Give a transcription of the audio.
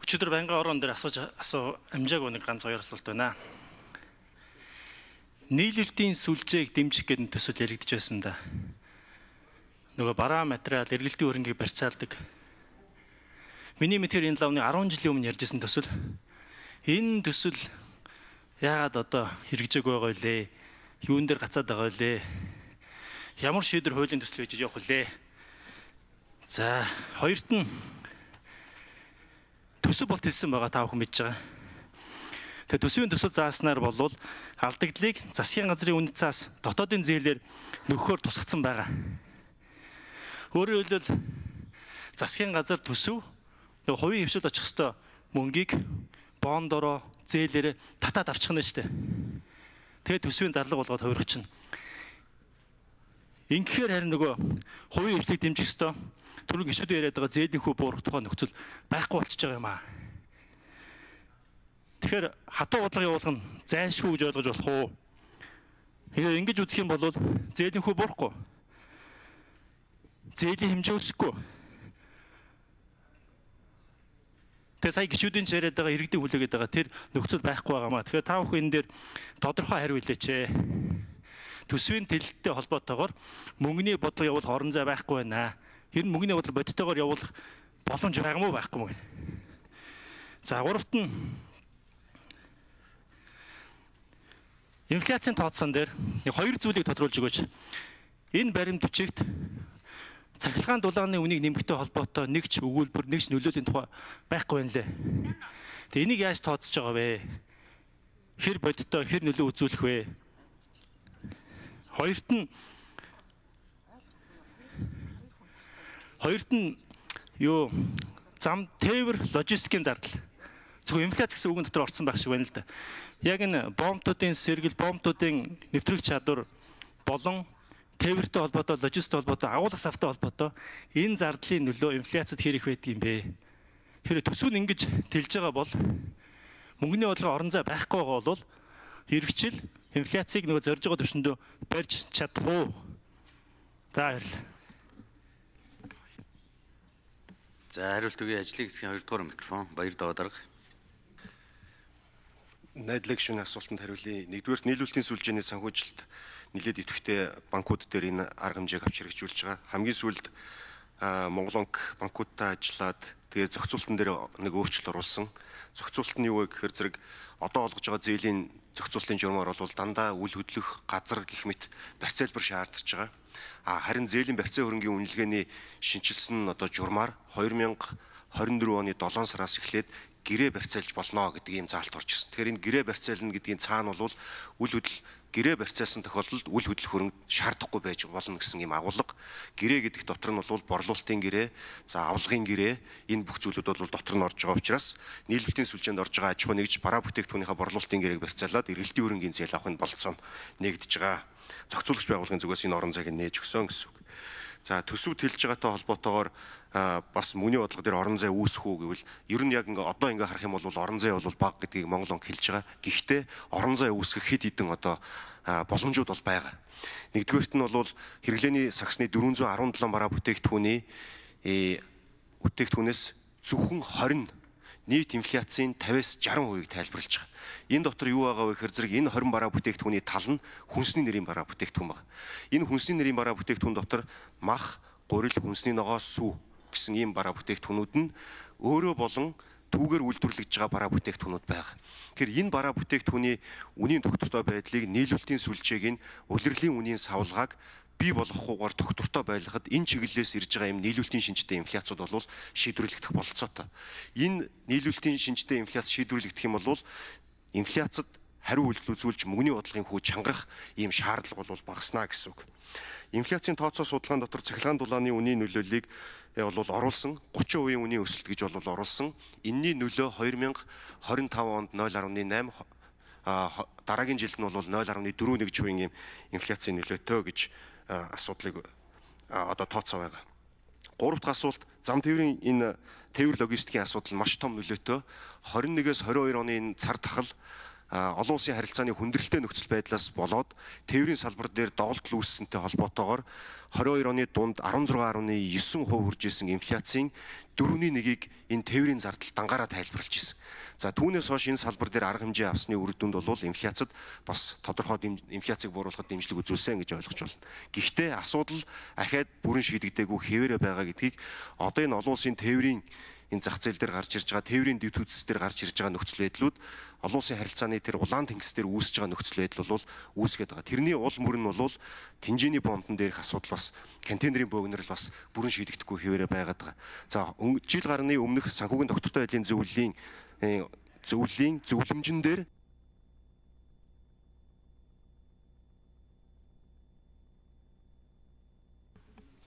Өчигдөр байнгын орон дээр амжаагүй нэг ганц хоёр асуулт байна. Нийлүүлэлтийн сүлжээг дэмжих гэдэг төсөл яригдж байсан да. Нөгөө бараа материал, эргэлтийн хөрөнгийг барьцаалдаг. Миний мэдхээр энэ лавны 10 жилийн өмнө ярьжсэн төсөл. Энэ төсөл яагаад одоо хэрэгжээг байгаа вэ? Юун дээр гацаад байгаа вэ? Ямар шийдвэр хуулийн төсөл хийж явах вэ? За, хоёрт нь төсөв болт хэлсэн байгаа та бүхэн мэдж байгаа. Тэгээ төсвийн төсөл зааснаар болвол алдагдлыг засгийн газрын үнэт цаас дотоодын зээлээр нөхөхөөр тусгацсан байгаа. Өөрөөр хэлбэл засгийн газар төсөв нөгөө хувийн хвшилд очих ёстой мөнгийг бондороо зээлээр татаад авчих нь шүү дээ. Тэгээ төсвийн зарлага болгоод хувиргачихна. Ингэхээр харин нөгөө хувийн хвшлийг дэмжих ёстой түрүү гişүүд яриад байгаа зээлийн хүү буурах тухай нөхцөл байхгүй болчихж байгаа юм аа. Тэгэхээр хатуу бодлого явуулах нь зайлшгүй гэж ойлгож болох уу? Ингэж үзэх юм бол зээлийн хүү буурахгүй. Зээлийн хэмжээ өсөхгүй. Тэгээ сая гişүүдийн яриад байгаа иргэдийн хүлээгээд байгаа тэр нөхцөл байхгүй байгаамаа. Тэгэхээр та бүхэн энэ дээр тодорхой хариу хэлээч. Төсвийн төлөлттэй холбоотойгоор мөнгөний бодлого явуулах орон зай байхгүй байна. Тэр мөнгөний бодлого бодитойгоор явуулах боломж байгаа мó байхгүй мó. За гуравт нь инфляцийн тооцоон дээр хоёр зүйлийг тодруулж өгөөч. Энэ баримт бичигт цахилгаан дулааны үнийг нэмэхтэй холбоотой нэг ч өгүүлбэр, нэг ч нөлөөлийн тухай байхгүй байна лээ. Тэгээ энийг яаж тооцож байгаа вэ? Хэр бодиттой, хэр нөлөө үзүүлэх вэ? Хоёрт нь юу зам тээвэр логистикийн зардал. Зөвхөн инфляц гэсэн үгэн дотор орсон байх шиг байна л да. Яг энэ бомбтуудын сэргэл, бомбтуудын нэвтрүүлэх чадвар болон тээвэртэй холбоотой, логистиктэй холбоотой, агуулгах савтай холбоотой энэ зардлын нөлөө инфляцид хэрэг байдаг юм бэ? Тэгэхээр төсөв нь ингэж тэлж байгаа бол мөнгөний бодлого орон зай байхгүй байгаа бол хэрэгжил инфляцийг нөгөө зорж байгаа түвшиндөө барьж чадах уу? За баярлалаа. За хариулт өгье. Ажлын хэсгийн 2 дугаар микрофон Баяр Даваа дарга. Найдлаг шүүний асуултанд хариулъя. Нэгдүгээр нийлүүлэлтийн сүлжээний санхүүжилт нэлээд идэвхтэй банкуд дээр энэ арга хэмжээг авч хэрэгжүүлж байгаа. Хамгийн сүүлд Монгол банкудтай ажиллаад тэгээ зохицуултан дээр нэг өөрчлөлт оруулсан. Зохицуулт нь юу вэ гэхээр зэрэг одоо олгож байгаа зээлийн зохицуултын журмаар бол дандаа үл хөдлөх газар гэх мэт барьцаалбар шаардж байгаа. Харин зээлийн барьцаа хөрөнгийн үнэлгээний шинжилсэн одоо журмаар 2024 оны 7 сараас эхлээд гэрээ барьцаалж болно гэдэг ийм заалт орж ирсэн. Тэгэхээр энэ гэрээ барьцаална гэдгийн цаана бол үл хөдлөл гэрээ барьцаалсан тохиолдолд үл хөдлөх хөрөнгө шаардахгүй байж болно гэсэн ийм агуулга. Гэрээ гэдэг дотор нь бол борлуулалтын гэрээ, за авлагын гэрээ энэ бүх зүйлүүд бол дотор нь орж байгаа учраас нийлүүлэлтийн сүлжээнд орж байгаа аж ахуй нэгж бараа бүтээгдэхүүнийхээ борлуулалтын гэрээг барьцаалаад эргэлтийн хөрөнгийн зээл авахын болцоо нэгдэж байгаа. Зохицуулагч байгууллагын зүгээс энэ орон зайг нээж өгсөн гэсэн үг. За төсөв тэлж байгаатай холбоотойгоор бас мөнгөний бодлого дээр орон зай үүсэх үү гэвэл ер нь яг одоо харах юм бол орон зай бол бага гэдгийг Монгол банк хэлж байгаа. Гэхдээ орон зай үүсгэх хэд хэдэн одоо боломжууд бол байгаа. Нэгдүгээрт нь бол хэрэглээний сагсны 417 бараа бүтээгдэхүүнээс зөвхөн 20 нийт инфляцийн 50-60% тайлбарлаж байгаа. Энэ дотор юу байгаа вэ гэхээр зэрэг энэ 20 бараа бүтээгдэхүүний тал нь хүнсний нэрийн бараа бүтээгдэхүүн байна. Энэ хүнсний нэрийн бараа бүтээгдэхүүн дотор мах, гурил, хүнсний ногоо, сүү гэсэн ийм бараа бүтээгдэхүүнүүд нь өөрөө болон түүгээр үйлдвэрлэж байгаа бараа бүтээгдэхүүнүүд байгаа. Тэгэхээр энэ бараа бүтээгдэхүүний үнийн тогтвортой байдлыг нийлүүлэлтийн сүлжээг нь улирлын үнийн савлгааг бий болгохгүйгээр тогтвортой байлгахад энэ чиглэлээс ирж байгаа юм нийлүүлэлтийн шинжтэй инфляцууд бол шийдвэрлэгдэх бололцоотой. Энэ нийлүүлэлтийн шинжтэй инфляц шийдвэрлэгдэх юм бол инфляцид хариу үйлдэл үзүүлж мөнгөний бодлогын хүү чангарах ийм шаардлага бол багаснаа гэсэн үг. Инфляцийн тооцоо судалгаан дотор цахилгаан дулааны үнийн нөлөөллийг бол оруулсан 30% үнийн өсөлт гэж бол оруулсан. Энэний нөлөө 2025 онд 0.8 дараагийн жилд нь бол 0.41% ийм инфляцийн нөлөөтэй гэж асуудлыг одоо тооцоо байгаа. Гурав дахь асуулт зам тээврийн энэ тээвэр логистикийн асуудал маш том нөлөөтэй. 21-с 22 оны энэ цар тахал олон улсын харилцааны хүндрэлтэй нөхцөл байдлаас болоод тээврийн салбар дээр доголдол үүссэнтэй холбоотойгоор 22 оны дунд 16.9% хүрж исэн инфляцийн 4.1-ийг энэ тээврийн зардал дангаараа тайлбарлаж исэн. За түүнээс хойш энэ салбар дээр арга хэмжээ авсны үр дүнд бол инфляцид бас тодорхой инфляцийг бууруулахад дэмжлэг үзүүлсэн гэж ойлгож байна. Гэхдээ асуудал ахаад бүрэн шийдэгдээгүй хэвээрээ байгаа гэдгийг одоо энэ олон улсын тээврийн энэ зах зээл дээр гарч ирж байгаа тээврийн дэд үзэс дээр гарч ирж байгаа нөхцөл байдлууд олон улсын харилцааны тэр улаан тэнгис дээр үүсэж байгаа нөхцөл байдал бол үүсгээд байгаа. Тэрний уул мөр нь бол тэнжээний бомбон дээрх асуудал бас контейнерын бөөгнөрл бас бүрэн шийдэгдэхгүй хэвээрээ байгаад байгаа. За жил гарны өмнөх санхүүгийн доктортой байдлын зөвлөлийн зөвлөмжн дээр